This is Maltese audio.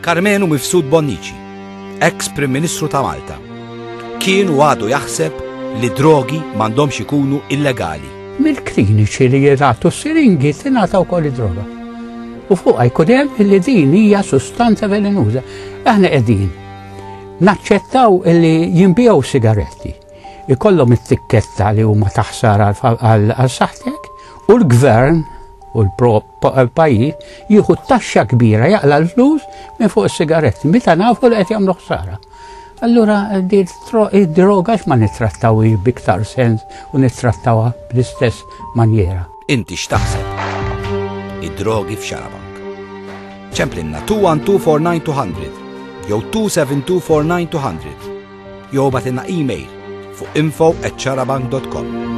Karmenu Mifsud Bonnici, ex Prim Ministru ta' Malta, kien u għadu jaħseb li drogi m'għandhomx ikunu illegali. Mill-kliniċi li jingħatu s-siringi tingħata wkoll id-droga. U fuqha jkun hemm li din hija sustanza velenuża. Aħna qegħdin naċċettaw li jinbiegħu sigaretti. Ikollhom it-tikketta li huma ta' ħsara għal saħħtek u l-gvern u l-pajjiż jieħu taxxa kbira jaqla l-flus minn fuq is-sigaretti meta nafu li qed jagħmlu ħsara. Allura id-droga ma nittrattawhiex b'iktar sens u nittrattawha bl-istess manjera. Inti x'taħseb? Id-drogi f'Xarabank. Ċemplinna 21249 jew 27249 200 jew bagħtilna email fuq info at xarabank.com.